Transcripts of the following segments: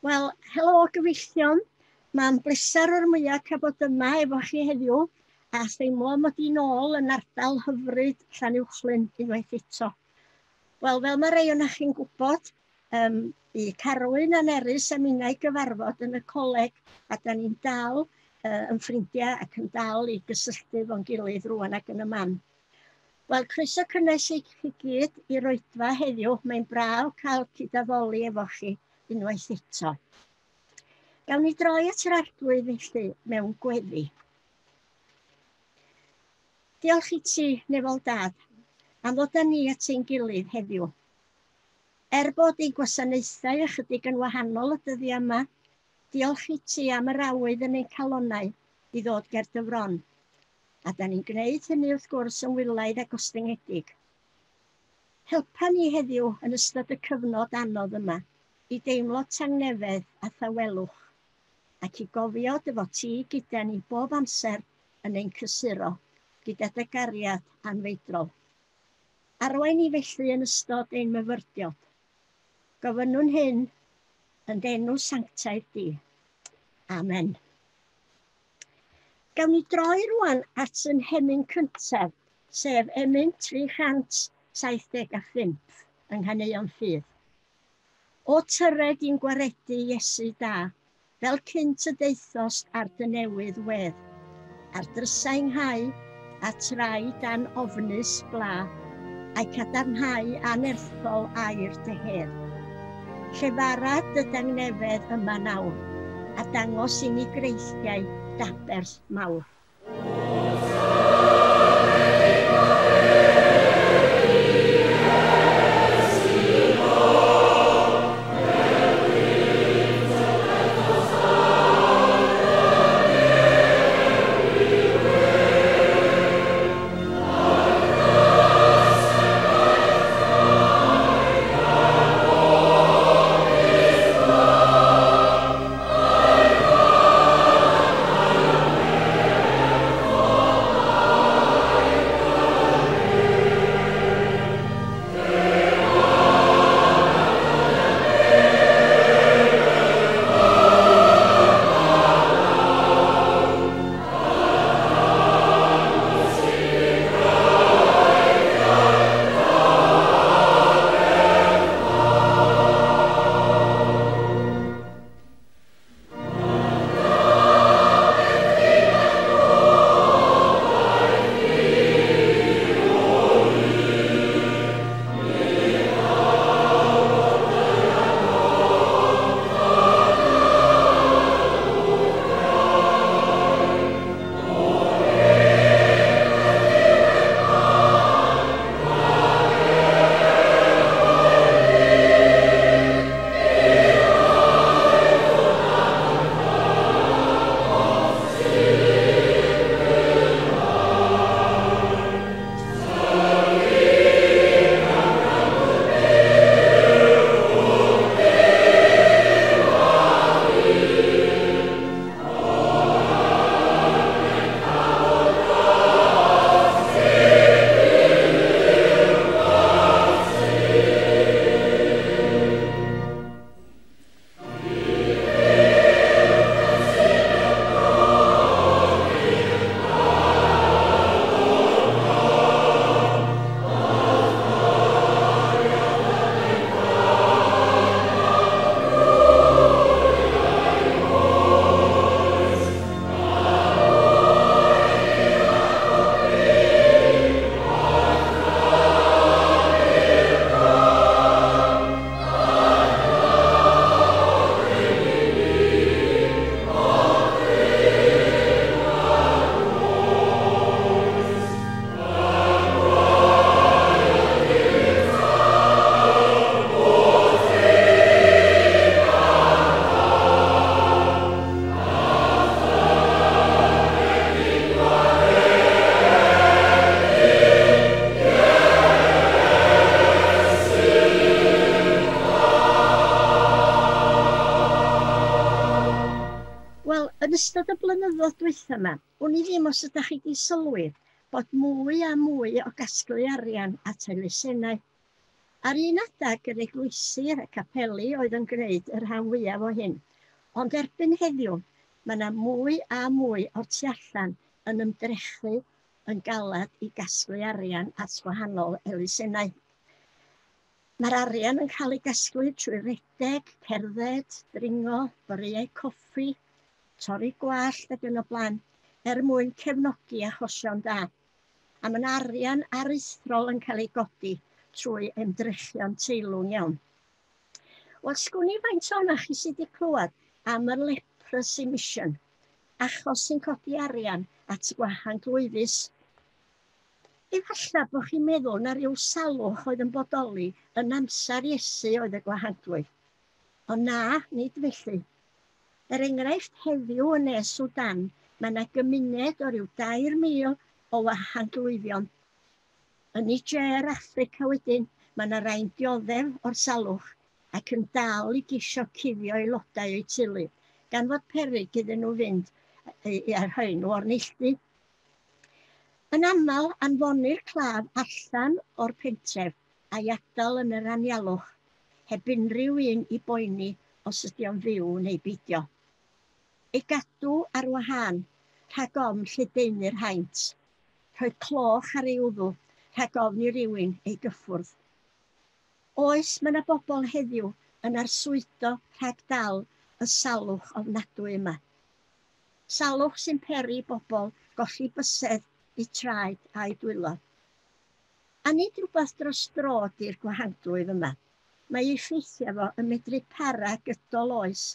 Wel, helo gyfeillion. Mae'n bleser o'r mwyaf cael bod yma efo chi heddiw a theimlo mod i'n ôl yn ardal hyfryd Llanuwchllyn unwaith eto. Wel, fel mae rei ohonoch chi'n gwybod, bu Carwyn a Nerys a minnau gyfarfod yn y coleg a da ni'n dal yn ffrindiau ac yn dal i gysylltu efo'n gilydd rwan ac yn y man. Wel, croeso cynnes i chi gyd i'r oedfa heddiw. Mae'n braf cael cydaddoli efo chi unwaith eto. Gawn ni droi at yr Arglwydd felly mewn gweddi. Diolch i ti, Nefol Dad, am ddod â ni at ein gilydd heddiw. Er bod ein gwasanaethau ychydig yn wahanol y dyddiau yma, diolch i ti am yr awydd yn ein calonnau i ddod ger dy fron. A da ni'n gwneud hynny wrth gwrs yn wylaidd a gostyngedig. Helpa ni heddiw yn ystod y cyfnod anodd yma i deimlo tangnefedd a thawelwch, ac i gofio dy fod ti gyda ni bob amser yn ein cysuro, gyda dy gariad anfeidrol. Arwain ni felly yn ystod ein myfyrdiod. Gofynnwn hyn yn d'enw sanctaidd di. Amen. Gawn ni droi rwan at yn hemyn cyntaf, sef emyn 375 yng Nghaneuon Ffydd. O tyred i'n gwaredu Iesu da, fel cynt y daethost ar dy newydd wedd, ar drysau nghau a trai dan ofnus bla, a'i cadarnhau anerthol air dy hedd. Llefara dy dangnefedd yma nawr, a dangos i ni greithiau d'aberth mawr. Wel, yn ystod y blynyddoedd dwytha yma, wn i ddim os ydych chi wedi sylwi bod mwy a mwy o gasglu arian at elusennau. Ar un adeg yr eglwysi a'r capeli oedd yn gwneud y rhan fwyaf o hyn, ond erbyn heddiw mae yna mwy a mwy o'r tu allan yn ymdrechu yn galad i gasglu arian at wahanol elusennau. Mae'r arian yn cael ei gasglu trwy redeg, cerdded, dringo, boreau coffi, torri gwallt ac yn y blaen, er mwyn cefnogi achosion da. A mae'n arian aruthrol yn cael ei godi trwy ymdrechion teilwng iawn. Wel, sgwn i faint ohonoch chi sydd wedi clywed am y Leprosy Mission, achos sy'n codi arian at gwahanglwyfus. Efallai bod chi'n meddwl na rhyw salwch oedd yn bodoli yn amser Iesu oedd y gwahanglwyf. Ond na, nid felly. Er enghraifft, heddiw yn Ne Sudan, mae yna gymuned o ryw 3,000 o wahanglwyfion. Yn Niger, Affrica wedyn, mae yna rai'n dioddef o'r salwch ac yn dal i geisio cuddio aelodau o'u teulu, gan fod peryg iddyn nhw fynd i rhoi nhw o'r neilltu. Yn aml, anfonir claf allan o'r pentref a'i adael yn yr anialwch, heb unrhyw un i boeni os ydy o'n fyw neu beidio. Ei gadw ar wahân rhag ofn lledaenu'r haint, rhoi cloch ar ei wddw rhag ofn i rywun ei gyffwrdd. Oes, mae yna bobl heddiw yn arswydo rhag dal y salwch ofnadwy yma. Salwch sy'n peri bobl golli bysedd, eu traed a'u dwylo. A nid rhywbeth dros dro ydy'r gwahanglwyf yma. Mae ei effeithiau fo yn medru para gydol oes,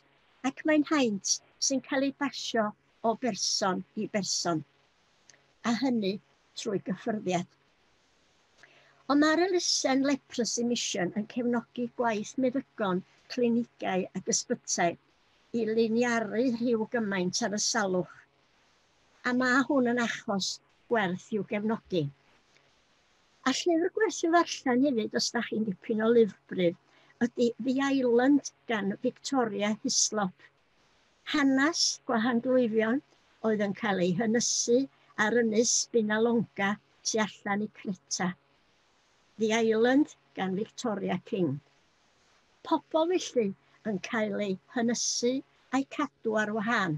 ac mae'n haint sy'n cael ei basio o berson i berson, a hynny trwy gyffyrddiad. Ond mae'r elusen Leprosy Mission yn cefnogi gwaith meddygon, clinigau ac ysbytai i liniaru rhyw gymaint ar y salwch. A mae hwn yn achos gwerth i'w gefnogi. A llyfr gwerth i'w ddarllen hefyd, os da chi'n dipyn o lyfrbryd, ydy The Island gan Victoria Hislop. Hanes gwahanglwyfion oedd yn cael ei hynysu ar ynys Spinalonga tu allan i Creta. The Island gan Victoria King. Pobl felly yn cael eu hynysu a'u cadw ar wahân.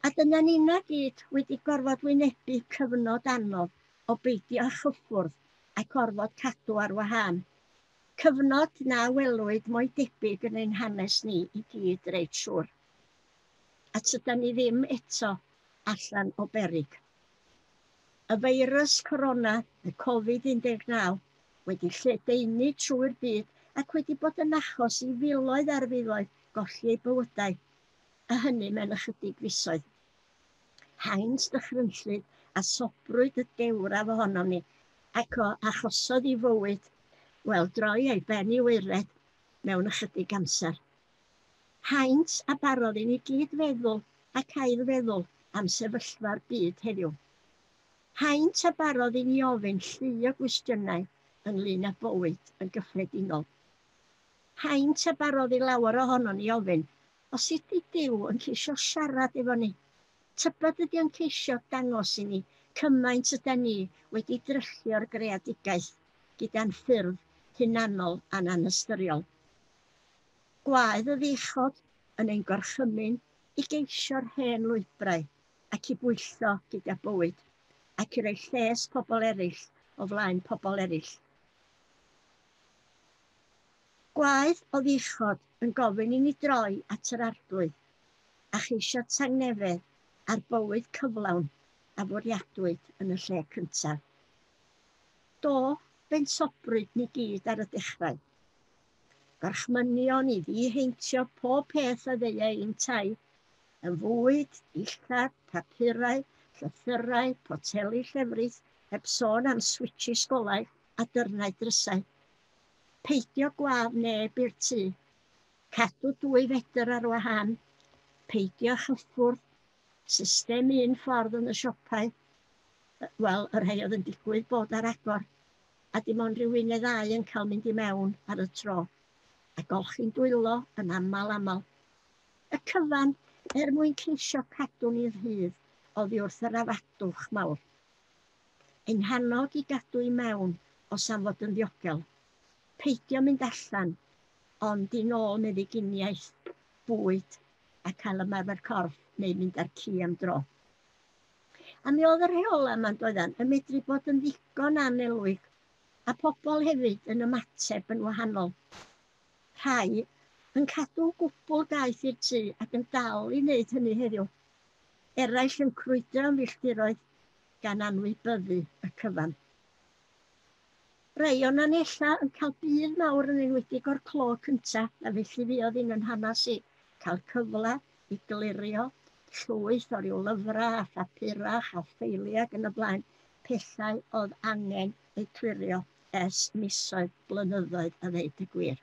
A dyna nina gyd wedi gorfod wynebu cyfnod anodd o beidio â chyffwrdd ac orfod cadw ar wahân. Cyfnod na welwyd mo'i debyg yn ein hanes ni i gyd reit siŵr. A tydan ni ddim eto allan o beryg. Y feirws corona, y Covid-19, wedi lledaenu trwy'r byd ac wedi bod yn achos i filoedd ar filoedd golli eu bywydau, a hynny mewn ychydig fisoedd. Haint dychrynllyd a sobrwyd y dewraf ohonom ni, ac o achosodd i fywyd, wel, droi ei ben i waered mewn ychydig amser. Haint a barodd i ni gyd feddwl ac ailfeddwl am sefyllfa'r byd heddiw. Haint a barodd i ni ofyn llu o gwestiynau ynglyn â bywyd yn gyffredinol. Haint a barodd i lawer ohonon ni ofyn, os ydy Duw yn ceisio siarad efo ni, tybed ydy o'n ceisio dangos i ni cymaint ydan ni wedi dryllio'r greadigaeth gyda'n ffyrdd hunanol a'n anystyriol. Gwaedd y ddeichod yn ein gorchymyn i geisio'r hen lwybrau ac i bwyllo gyda bywyd ac i roi lles pobl eraill o flaen pobl eraill. Gwaedd o ddeichod yn gofyn i ni droi at yr Arglwydd a cheisio tangnefedd a'r bywyd cyflawn a fwriadwyd yn y lle cyntaf. Do, fe'n sobrwyd ni gyd ar y dechrau. Gorchmynion i ddiheintio pob peth a ddeuai i'n tai, yn fwyd, dillad, papurau, llythyrau, poteli llefrith, heb sôn am switshis golau a dyrnau drysau. Peidio gwadd neb i'r tŷ, cadw 2 fetr ar wahân, peidio chyffwrdd, system un ffordd yn y siopau, wel, y rhai oedd yn digwydd bod ar agor, a dim ond rhyw un neu ddau yn cael mynd i mewn ar y tro, a golchi'n dwylo yn aml aml. Y cyfan er mwyn ceisio cadw ni rhydd oddi wrth yr afadwch mawr. Ein hannog i gadw i mewn os am fod yn ddiogel. Peidio mynd allan, ond i nôl meddyginiaeth, bwyd a cael ymarfer corff neu mynd â'r ci am dro. A mi oedd y rheola yma'n doeddan yn medru bod yn ddigon annelwig, a pobl hefyd yn ymateb yn wahanol. Rhai yn cadw gwbl gaeth i'r tŷ ac yn dal i wneud hynny heddiw. Eraill yn crwydro am filltiroedd gan anwybyddu y cyfan. Rhai o'n ella yn cael budd mawr yn enwedig o'r clo cyntaf, a felly fuodd un yn hanes i cael cyfle i glirio llwyth o ryw lyfrau a phapurach a ffeiliau ac yn y blaen, pethau oedd angen eu clirio ers misoedd, blynyddoedd a ddeud y gwir.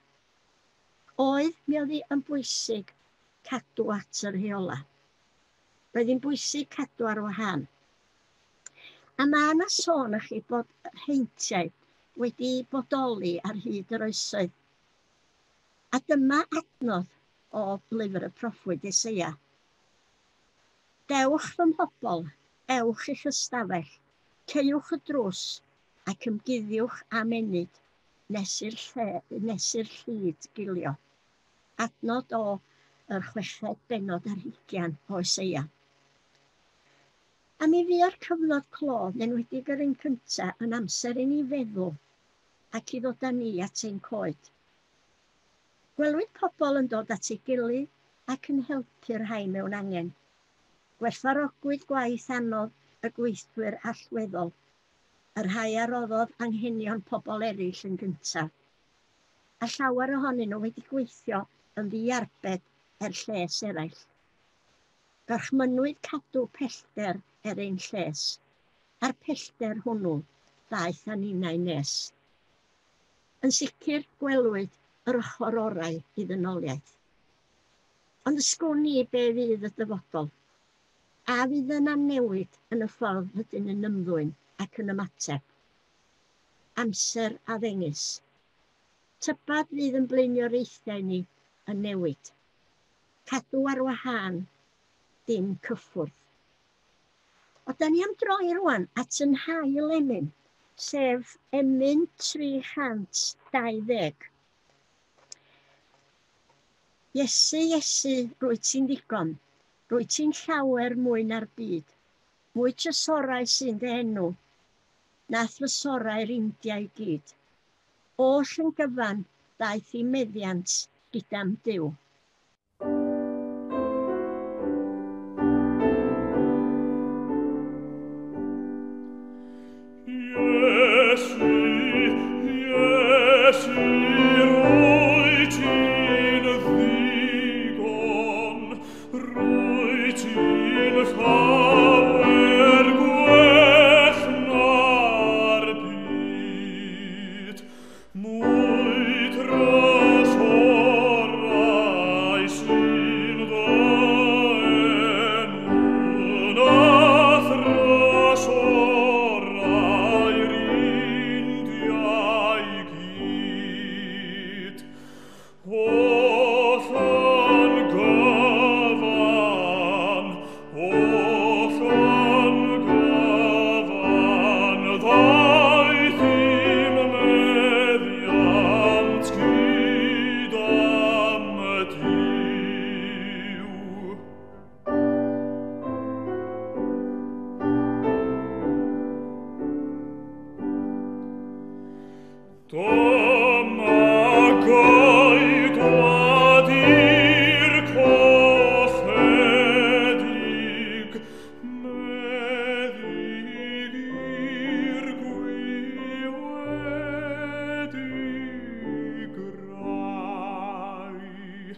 Oedd, mi oedd hi yn bwysig cadw at y rheola. Roedd hi'n bwysig cadw ar wahân. A mae yna sôn i chi bod heintiau wedi bodoli ar hyd yr oesoedd. A dyma adnodd o lyfr y proffwyd Eseia. Dewch fy mhobl, ewch i'ch ystafell, caewch y drws ac ymguddiwch am ennyd nes i'r llid gilio. Adnod o yr 26 o Eseia. A mi fuo'r cyfnod clo, yn enwedig yr un cyntaf, yn amser i ni feddwl ac i ddod â ni at ein coed. Gwelwyd pobl yn dod at ei gilydd ac yn helpu'r rhai mewn angen. Gwerthfawrogwyd gwaith anodd y gweithwyr allweddol, y rhai a roddodd anghenion pobl eraill yn gyntaf. A llawer ohonyn nhw wedi gweithio yn ddiarbed er lles eraill. Gorchmynnwyd cadw pellter er ein lles, a'r pellter hwnnw ddaeth â ninnau nes. Yn sicr gwelwyd yr ochr orau i ddynoliaeth. Ond ysgwn i be fydd y dyfodol, a fydd yna newid yn y ffordd rydyn yn ymddwyn ac yn ymateb. Amser a ddengys. Tybad fydd yn blaenoriaethau ni yn newid. Cadw ar wahân, dim cyffwrdd. O, da ni am droi rwan at yn hail emyn, sef emyn 320. Iesu, Iesu, rwyt ti'n ddigon, rwyt ti'n llawer mwy na'r byd, mwy trysorau sy'n dy enw, na thrysorau'r India i gyd. Oll yn gyfan daeth i meddiant gyda'm Duw. Iesu, Iesu, rwyt ti'n ddigon, rwyt ti'n llawer gwell na'r byd, mwy trysorau sy'n dy enw na thrysorau'r India i gyd. Oll yn gyfan, oll yn gyfan, ddaeth i'm meddiant gyda'm Duw. Dyma geidwad i'r colledig, meddyg i'r gwiwedig rai.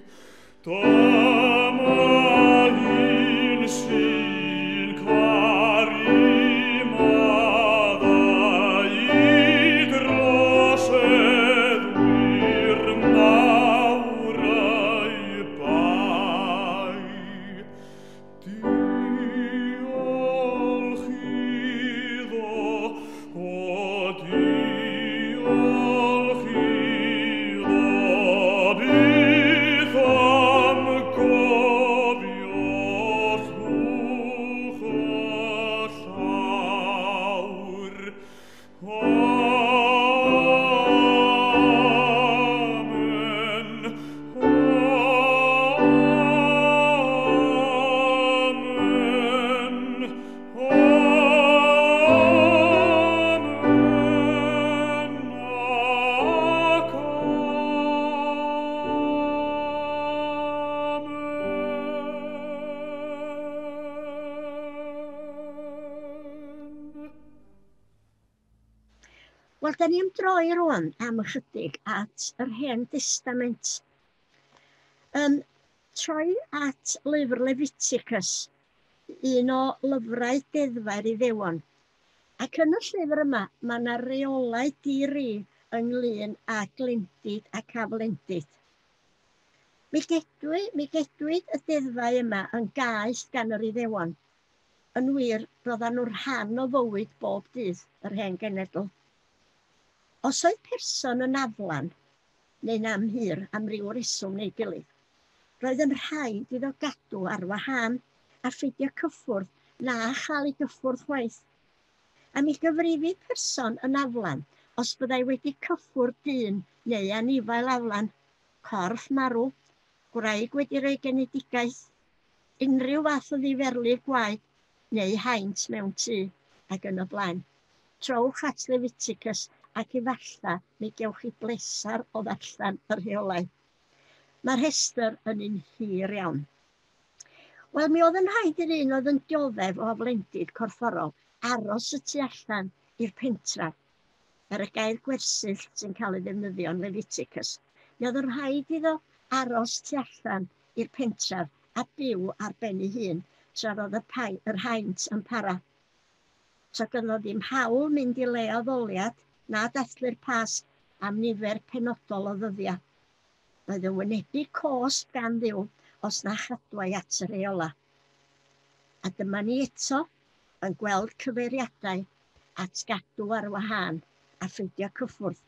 Dyma un sy'n caru maddau i droseddwyr mawr eu bai. Wel, da ni am droi rwan am ychydig at yr Hen Destament. Troi at lyfr Leviticus, un o lyfrau deddfau'r Iddewon. Ac yn y llyfr yma, mae yna reolau di-ri ynglyn â glendid ac aflendid. Mi gedwid y deddfau yma yn gaeth gan yr Iddewon. Yn wir, roedden nhw'n rhan o fywyd bob dydd yr hen genedl. Os oedd person yn aflan, neu'n amhur am ryw reswm neu gilydd, roedd yn rhaid iddo gadw ar wahân a pheidio cyffwrdd na chael ei gyffwrdd chwaith. A mi gyfrifid person yn aflan os byddai wedi cyffwrdd dyn neu anifail aflan, corff marw, gwraig wedi rhoi genedigaeth, unrhyw fath o ddiferlif gwaed neu haint mewn tŷ ac yn y blaen. Trowch at Leviticus ac efallai mi gewch chi blesar o ddarllen y rheolau. Mae'r rhestr yn un hir iawn. Wel, mi oedd yn rhaid i'r un oedd yn dioddef o aflendid corfforol aros y tu allan i'r pentref, er y gair gwersyll sy'n cael ei ddefnyddio yn Leviticus. Mi oedd yn rhaid iddo aros tu allan i'r pentref a byw ar ben ei hun tra roedd yr haint yn para. So gynno ddim hawl mynd i le addoliad na dathlu'r Pasg am nifer penodol o ddyddiau. Roedd yn wynebu cosb gan Dduw os na chadwai at y rheola. A dyma ni eto yn gweld cyfeiriadau at gadw ar wahân a pheidio cyffwrdd.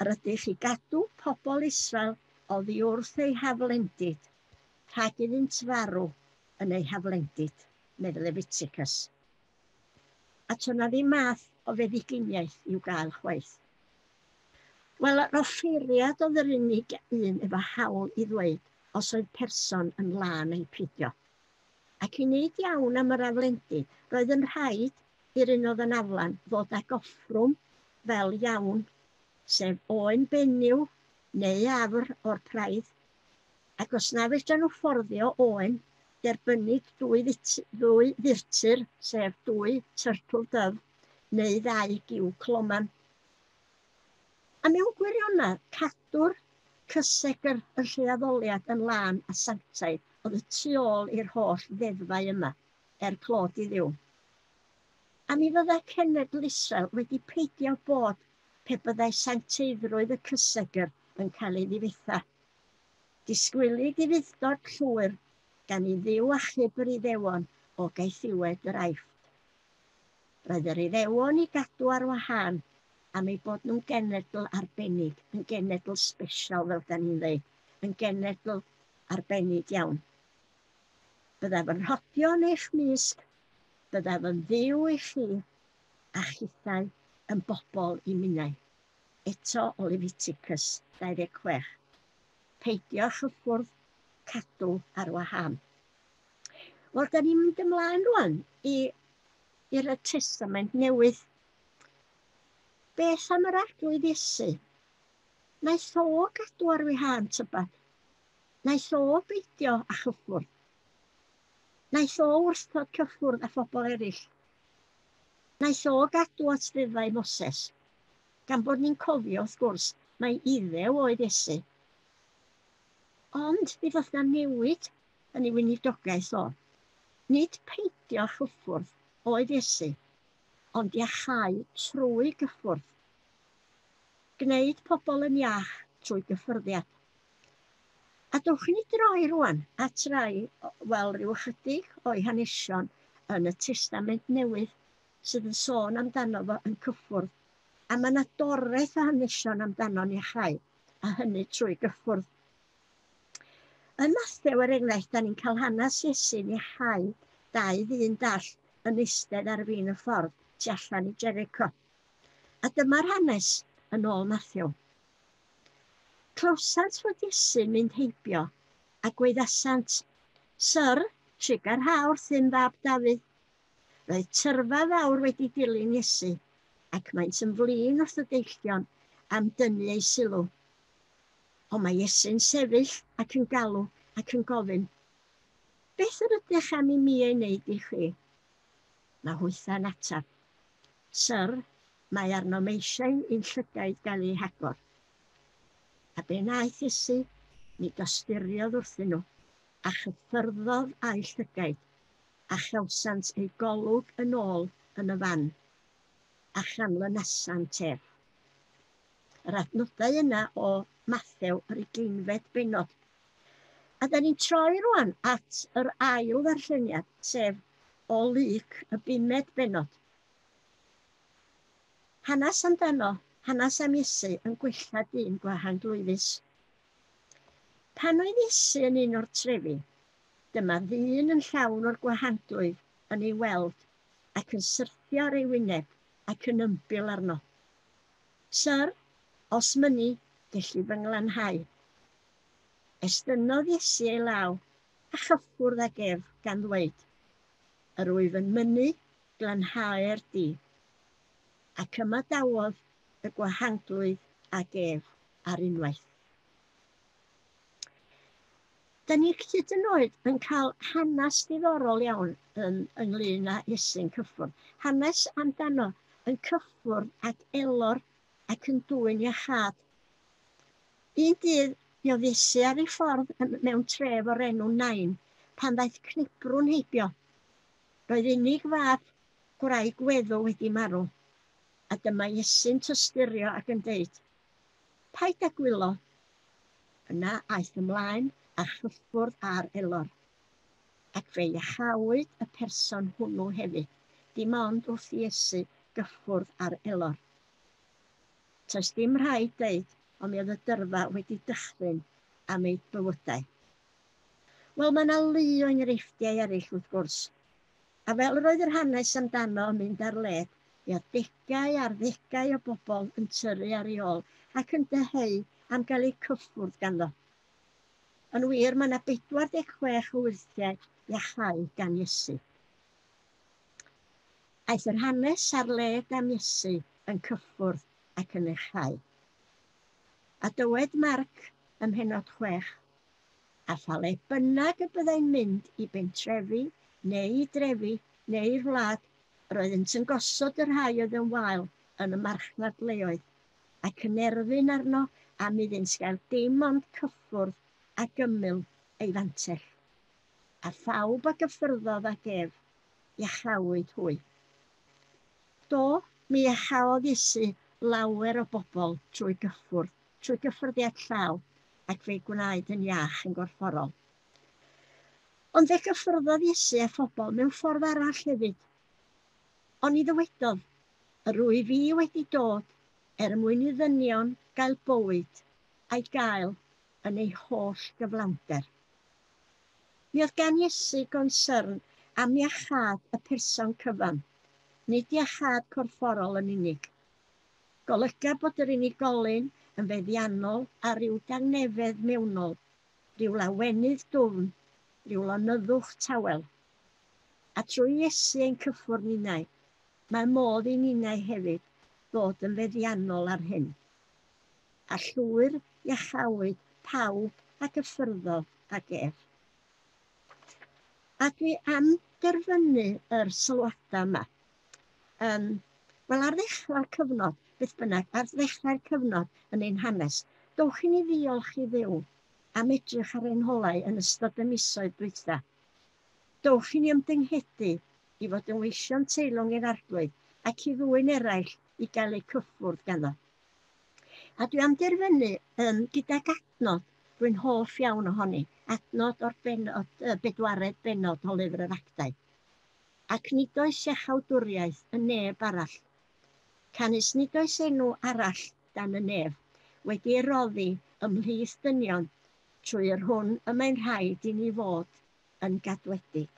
Yr ydych i gadw pobl Israel oddi wrth eu haflendid, rhag iddynt farw yn eu haflendid, medd Leviticus. A to na ddim math o feddyginiaeth i'w gael chwaith. Wel, yr offeiriad oedd yr unig un efo hawl i ddweud os oedd person yn lân neu peidio. Ac i wneud iawn am yr aflendid, roedd yn rhaid i'r un oedd yn aflan ddod ag offrwm fel iawn, sef oen benyw neu afr o'r praidd. Ac os na fedran nhw fforddio oen, derbynnid dwy ddurtur, sef dwy turtle dove, neu ddau giw cloman. A mewn gwirionedd, cadw'r cysegr y lle addoliad yn lân a sanctaidd oedd y tu ôl i'r holl ddeddfau yma, er clod i Dduw. A mi fyddai cenedl Israel wedi peidio bod pe byddai sancteiddrwydd y cysegr yn cael ei ddifetha. Disgwylid i fuddod llwyr gan i Dduw achub yr Iddewon o gaethiwed yr Aifft. Roedd yr Iddewon i gadw ar wahân am eu bod nhw'n genedl arbennig, yn genedl special fel da ni'n dweud, yn genedl arbennig iawn. Byddaf yn rhodio yn eich mysg, byddaf yn Dduw i chi, a chithau yn bobl i minnau. Eto o Leviticus 26. Peidio chyffwrdd, cadw ar wahân. Wel, da ni'n mynd ymlaen rwan i'r Testament Newydd. Beth am yr Arglwydd Iesu? Naeth o gadw ar wahân tybed? Naeth o beidio â chyffwrdd? Naeth o wrthod cyffwrdd â phobl eraill? Naeth o gadw at ddeddfau Moses? Gan bod ni'n cofio, wrth gwrs, mai Iddew oedd Iesu. Ond mi ddoth na newid yn ei weinidogaeth o. Nid peidio chyffwrdd oedd Iesu, ond iachau trwy gyffwrdd. Gwneud pobl yn iach trwy gyffyrddiad. A dowch i ni droi rwan at rai, wel, rhyw ychydig o'i hanesion yn y Testament Newydd sydd yn sôn amdano fo yn cyffwrdd. A mae yna doreth o hanesion amdano'n iachau, a hynny trwy gyffwrdd. Yn Mathew, er enghraifft, da ni'n cael hanes Iesu'n iachau dau ddyn dall yn eistedd ar fin y ffordd tu allan i Jericho. A dyma'r hanes yn ôl Mathew. Clywsant fod Iesu'n mynd heibio a gwaeddasant, "Syr, trugarha wrthym fab Dafydd." Roedd tyrfa fawr wedi dilyn Iesu, ac maent yn flin wrth y deillion am dynnu ei sylw. Ond mae Iesu'n sefyll ac yn galw ac yn gofyn, "Beth yr ydych am i mi ei wneud i chi?" Mae hwytha'n ateb, "Syr, Mae arnom eisiau i'n llygaid gael eu hagor. A be wnaeth Iesu? Mi dosturiodd wrthyn nhw, a chyffyrddodd â'u llygaid, a chawsant eu golwg yn ôl yn y fan, a chanlynasant ef. Yr adnodau yna o Mathew yr 20fed bennod. A da ni'n troi rwan at yr ail ddarlleniad, sef o Luc y bumed bennod. Hanes amdano, hanes am Iesu yn gwella dyn gwahanglwyfus. Pan oedd Iesu yn un o'r trefi, dyma ddyn yn llawn o'r gwahanglwyf yn ei weld ac yn syrthio ar ei wyneb ac yn ymbil arno. Syr, os mynni, gelli fy nglanhau. Estynnodd Iesu ei law a chyffwrdd ag ef gan ddweud, Yr wyf yn mynnu glanhau'r di. Ac ymadawodd y gwahanglwydd ag ef ar unwaith. Da ni hyd yn oed yn cael hanes diddorol iawn yn, ynglyn â Iesu'n cyffwrdd. Hanes amdano yn cyffwrdd ag elor ac yn dwyn iachâd. Un dydd, mi oedd Iesu ar ei ffordd mewn tref o'r enw Nain, pan ddaeth cnebrwn heibio. Roedd unig fab gwraig weddw wedi marw, a dyma Iesu'n tosturio ac yn deud, Paid â gwylo. Yna aeth ymlaen a chyffwrdd â'r elor. Ac fe iachawyd y person hwnnw hefyd, dim ond wrth i Iesu gyffwrdd â'r elor. Toes dim rhaid deud, ond mi oedd y dyrfa wedi dychryn am eu bywydau. Wel, mae yna lu o enghreifftiau eraill wrth gwrs. A fel yr oedd yr hanes amdano yn mynd ar led, mi oedd degau ar ddegau o bobl yn tyrru ar ei ôl ac yn dyheu am gael eu cyffwrdd ganddo. Yn wir, mae yna 46 o wyrthiau iachau gan Iesu. Aeth yr hanes ar led am Iesu yn cyffwrdd ac yn iachau. A dywed Marc ym mhennod 6, a pha le bynnag y byddai'n mynd i bentrefi neu i drefi neu i'r wlad, yr oeddynt yn gosod y rhai oedd yn wael yn y marchnad leoedd, ac yn erfyn arno am iddynt gael dim ond cyffwrdd ag ymyl ei fantell. A phawb a gyffyrddodd ag ef, iachawyd hwy. Do, mi iachaodd Iesu lawer o bobl trwy gyffwrdd, trwy gyffyrddiad llaw, ac fe'i gwnaed yn iach yn gorfforol. Ond fe gyffyrddodd Iesu â phobl mewn ffordd arall hefyd. Oni ddywedodd, yr wyf fi wedi dod er mwyn i ddynion gael bywyd a'i gael yn ei holl gyflawnder. Mi oedd gan Iesu gonsyrn am iachâd y person cyfan, nid iachâd corfforol yn unig. Golyga bod yr unigolyn yn feddiannol ar ryw dangnefedd mewnol, rhyw lawenydd dwfn, rhyw lonyddwch tawel. A trwy Iesu ein cyffwrdd ninnau, mae modd i ninnau hefyd ddod yn feddiannol ar hyn. A llwyr iachawyd pawb a gyffyrddodd ag ef. A dwi am derfynu yr sylwadau yma. Wel, ar ddechrau'r cyfnod, beth bynnag, ar ddechrau'r cyfnod yn ein hanes, dowch i ni ddiolch i Dduw am edrych ar ein holau yn ystod y misoedd dwytha. Dowch i ni ymdynghedu i fod yn weision teilwng i'r Arglwydd ac i ddwyn eraill i gael eu cyffwrdd ganddo. A dwi am derfynu gydag adnod rwy'n hoff iawn ohoni, adnod o'r bennod, bedwaredd bennod o Lyfr yr Actau. Ac nid oes iachawdwriaeth yn neb arall. Canys nid oes enw arall dan y nef wedi ei roddi ymhlith dynion trwy yr hwn y mae'n rhaid i ni fod yn gadwedig.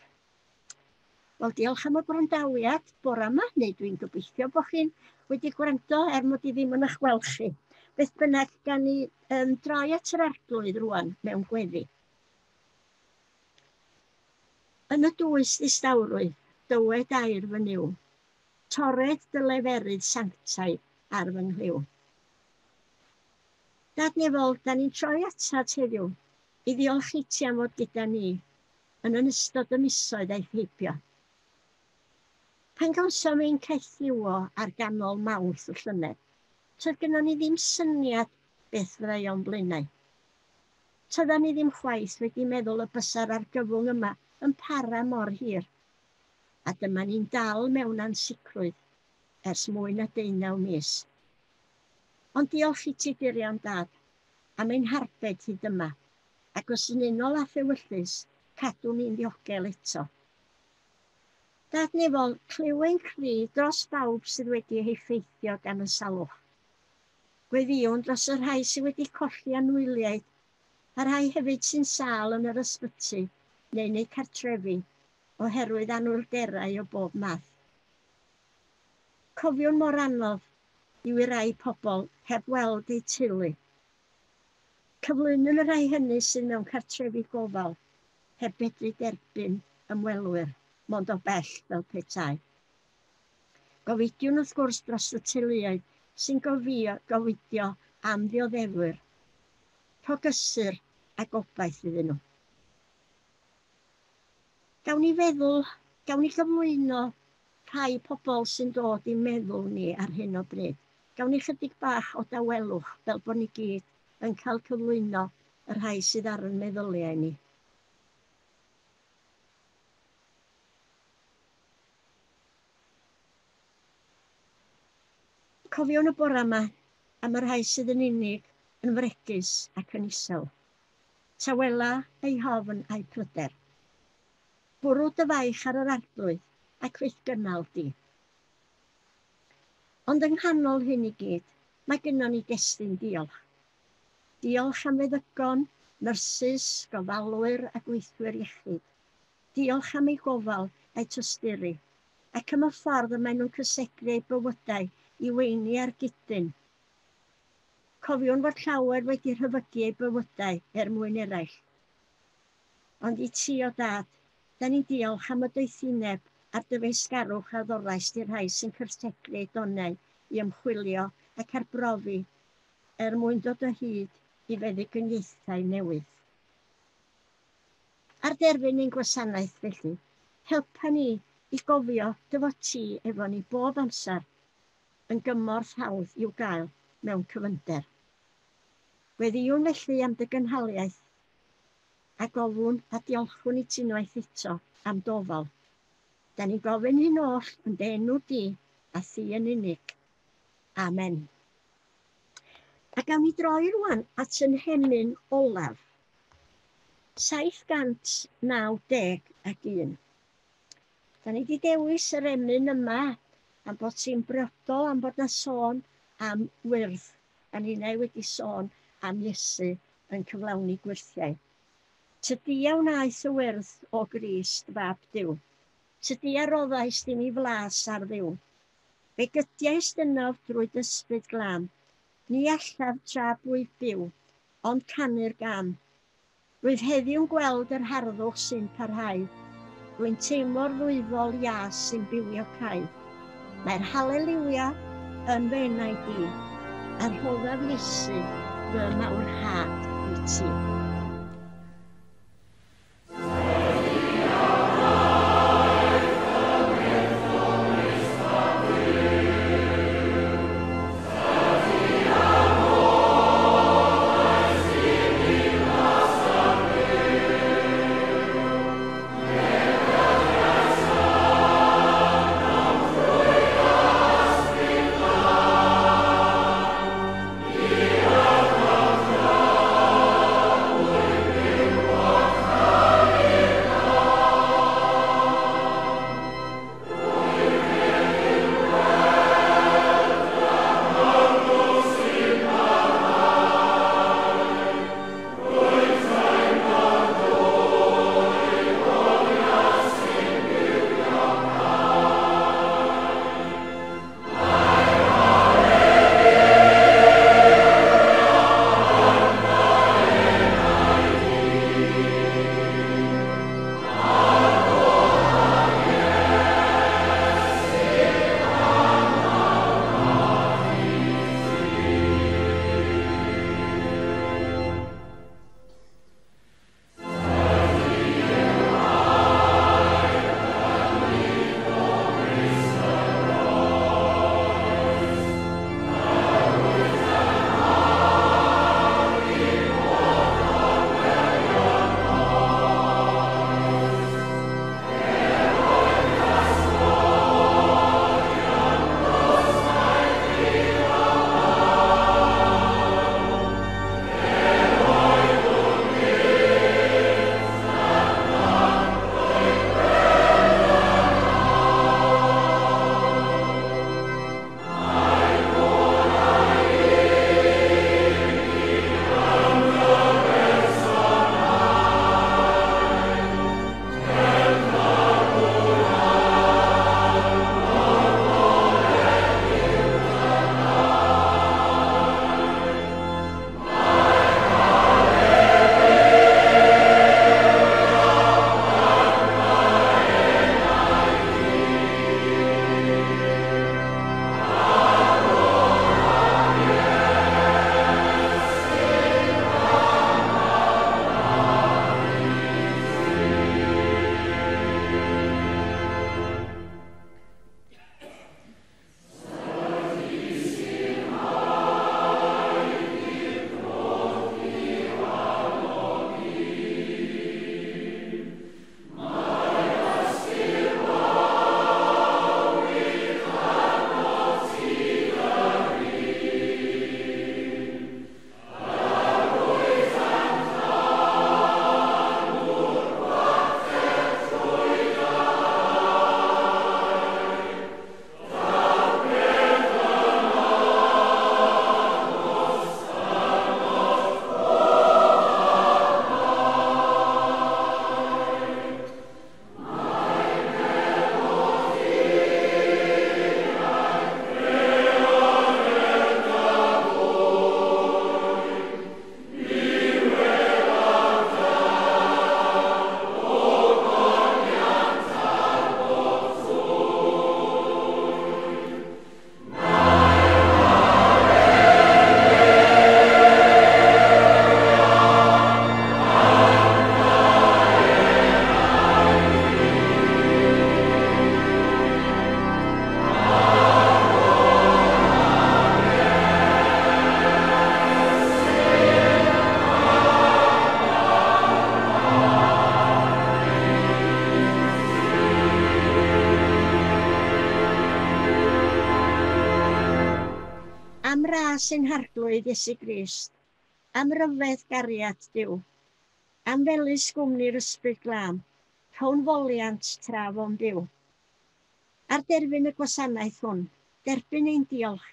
Wel, diolch am y gwrandawiad bore yma, neu dwi'n gobeithio bod chi'n wedi gwrando er mod i ddim yn eich gweld chi. Beth bynnag, gan ni droi at yr Arglwydd rwan mewn gweddi. Yn y dwys ddistawrwydd, dywed air fy Nuw, torred dy leferydd sanctaidd ar fy nghlyw. Dad nefol, da ni'n troi atat heddiw i ddiolch i ti am fod gyda ni yn ystod y misoedd aeth heibio. Pan gawsom ein caethiwo ar ganol Mawrth y llynedd, toedd gynnon ni ddim syniad beth fyddai o'n blaenau. Toeddan ni ddim chwaith wedi meddwl y bysa'r argyfwng yma yn para mor hir. A dyma ni'n dal mewn ansicrwydd ers mwy na 19 mis. Ond diolch i ti dirion Dad am ein harbed hyd yma, ac os yn unol â ffewyllys, cadw ni'n ddiogel eto. Dad nefol, clyw ein cri dros bawb sydd wedi eu heffeithio gan y salwch. Gweddïwn dros y rhai sydd wedi colli anwyliaid, a rhai hefyd sy'n sâl yn yr ysbyty neu yn eu cartrefi oherwydd anwylderau o bob math. Cofiwn mor anodd yw i rai pobl heb weld eu teulu. Cyflwynwn y rhai hynny sydd mewn cartrefi gofal heb fedru derbyn ymwelwyr, mond o bell fel petai. Gofidiwn wrth gwrs dros y teuluoedd sy'n gofidio am ddioddefwyr. Rho gysur a gobaith iddyn nhw. Gawn ni feddwl, gawn ni gyflwyno rhai pobl sy'n dod i'n meddwl ni ar hyn o bryd. Gawn ni chydig bach o dawelwch fel bod ni gyd yn cael cyflwyno y rhai sydd ar yn meddyliau ni. Cofiwn y bore yma am y rhai sydd yn unig, yn fregus ac yn isel. Tawela eu hofn a'u pryder. Bwrw dy faich ar yr arglwydd ac fyth gynnal di. Ond yng nghanol hyn i gyd, mae gynnon ni destun diolch. Diolch am feddygon, nyrsys, gofalwyr a gweithwyr iechyd. Diolch am eu gofal a'u tosturi, ac am y ffordd y maen nhw'n cysegru eu bywydau i weini ar gydyn. Cofiwn fod llawer wedi rhyfygu eu bywydau er mwyn eraill. Ond i ti o Dad, da ni'n diolch am y doethineb a'r dyfeisgarwch a ddoraist i'r rhai sy'n cysegru eu donau i ymchwilio ac arbrofi er mwyn dod o hyd i feddyginiaethau newydd. Ar derfyn ein gwasanaeth felly, helpa ni i gofio dy fod ti efo ni bob amser yn gymorth hawdd i'w gael mewn cyfynder. Gweddïwn felly am dy gynhaliaeth a gofwn a diolchwn i ti unwaith eto am dofal. Da ni'n gofyn hyn oll yn dy enw di a thi yn unig. Amen. A gawn ni droi rwan at yn hemyn olaf. 791. Da ni wedi dewis yr emyn yma am bod ti'n briodol, am bod na sôn am wyrdd. A ninnau wedi sôn am Iesu yn cyflawni gwyrthiau. Tydi a wnaeth y wyrdd o Grist fab Duw. Tydi a roddaist i mi flas ar Dduw. Fe gydiaist ynof drwy ysbryd glân. Ni allaf tra bwyf byw, ond canu'r gan. Rwyf heddiw'n gweld yr harddwch sy'n parhau. Rwy'n teimlo'r ddwyfol ias sy'n bywio cae. Mae'r haleliwia yn fy enaid i, a rhoddaf Iesu fy mawrhad i ti. ras ein Harglwydd Iesu Grist, am ryfedd gariad Duw, am felys gwmni'r Ysbryd Glân, rhown foliant tra fo'n byw. Ar derfyn y gwasanaeth hwn, derbyn ein diolch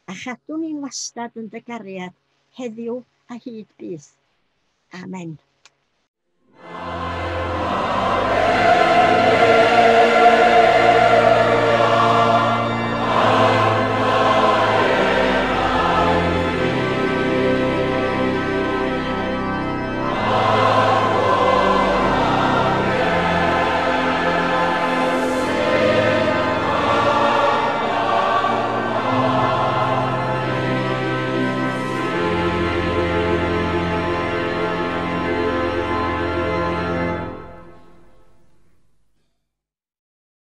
a chadw ni'n wastad yn dy gariad heddiw a hyd byth. Amen.